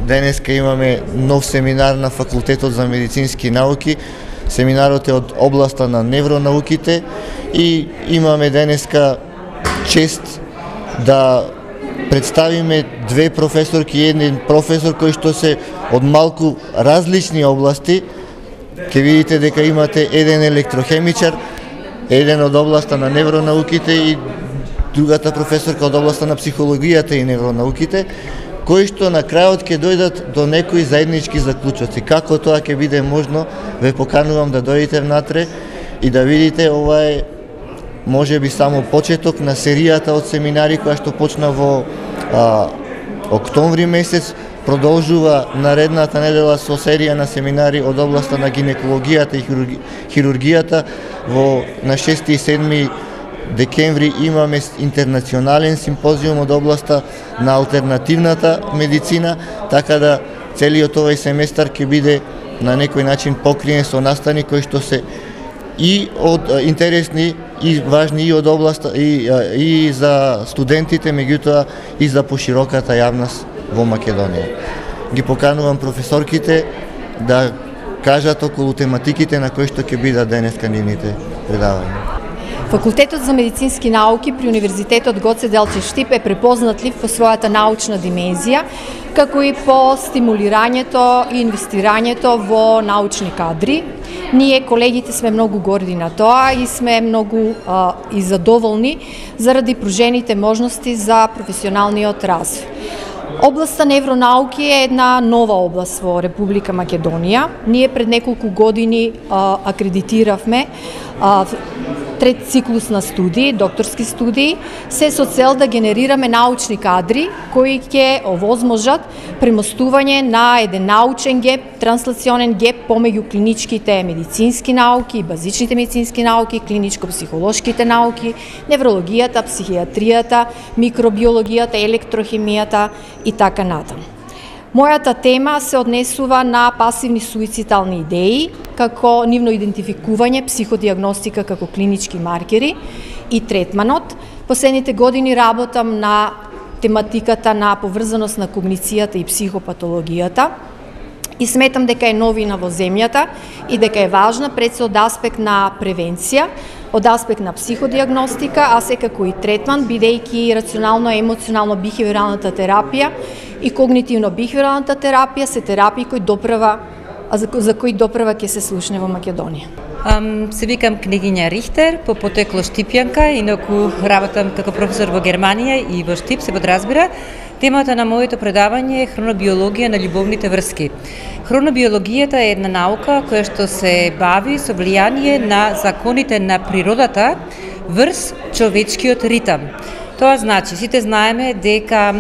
Денеска имаме нов семинар на Факултетот за медицински науки. Семинарот е од областа на невронауките и имаме денеска чест да представиме две професорки и еден професор кои што се од малку различни области. Ке видите дека имате еден електрохемичар, еден од областа на невронауките и другата професорка од областа на психологијата и невронауките, кои што на крајот ќе дојдат до некои заеднички заклучоци. Како тоа ќе биде можно, ве поканувам да дојдете внатре и да видите, ова е можеби само почеток на серијата од семинари која што почна во октомври месец, продолжува наредната недела со серија на семинари од областа на гинекологијата и хирургијата. На 6 и 7 декември имаме интернационален симпозиум од областа на алтернативната медицина, така да целиот овој семестар ќе биде на некој начин покриен со настани кои што се и од интересни и важни и од областа и за студентите, меѓутоа и за пошироката јавност во Македонија. Ги поканувам професорките да кажат околу тематиките на кои што ќе бидат денеска нивните предавања. Факултетот за медицински науки при Универзитетот Гоце Делчев Штип е препознатлив по својата научна димензија, како и по стимулирањето и инвестирањето во научни кадри. Ние, колегите, сме многу горди на тоа и сме многу и задоволни заради пружените можности за професионалниот развој. Областа невронауки е една нова област во Република Македонија. Ние пред неколку години акредитиравме трет циклус на студии, докторски студии, се со цел да генерираме научни кадри кои ќе овозможат премостување на еден научен геп, транслационен геп помеѓу клиничките медицински науки, базичните медицински науки, клиничко-психолошките науки, неврологијата, психијатријата, микробиологијата, електрохемијата и така натаму. Мојата тема се однесува на пасивни суицидални идеи, како нивно идентификување, психодиагностика како клинички маркери и третманот. Последните години работам на тематиката на поврзаност на когницијата и психопатологијата и сметам дека е новина во земјата и дека е важна пред се од аспект на превенција, од аспект на психодиагностика, а секако и третман, бидејќи рационално-емоционално бихевиоралната терапија и когнитивно-бихевиоралната терапија се терапии кои за кои допрва ќе се слушне во Македонија. Се викам княгиња Рихтер, по потекло Штипјанка, инаку работам како професор во Германија и во Штип, се подразбира. Темата на моето предавање е хронобиологија на љубовните врски. Хронобиологијата е една наука која што се бави со влијание на законите на природата врз човечкиот ритам. Тоа значи, сите знаеме дека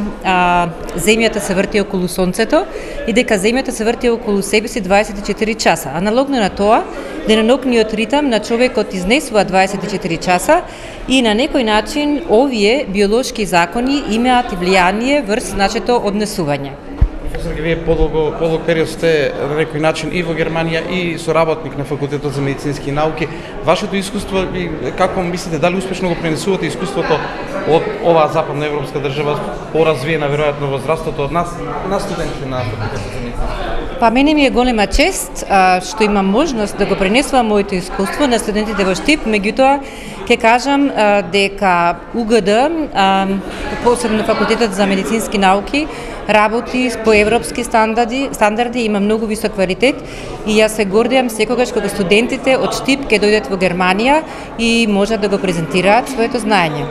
Земјата се врти околу Сонцето и дека Земјата се врти околу себе си 24 часа. Аналогно на тоа, денонокниот ритам на човекот изнесува 24 часа и на некој начин овие биолошки закони имаат и влијание врз начето однесување. Професор, вие подолг период сте на некој начин и во Германија и соработник на Факултетот за медицински науки. Вашето искуство, како мислите, дали успешно го пренесувате искуството од оваа западна европска држава, поразвиена веројатно возрастото од нас, на студенти на Факултетот за медицински науки? Па мене ми е голема чест што имам можност да го пренесувам моето искуство на студентите во Штип, меѓутоа ќе кажам дека УГД, посебно Факултетот за медицински науки, работи по европски стандарди, има многу висок квалитет и јас се гордеам секогаш кога студентите од Штип ќе дојдат во Германија и можат да го презентираат своето знаење.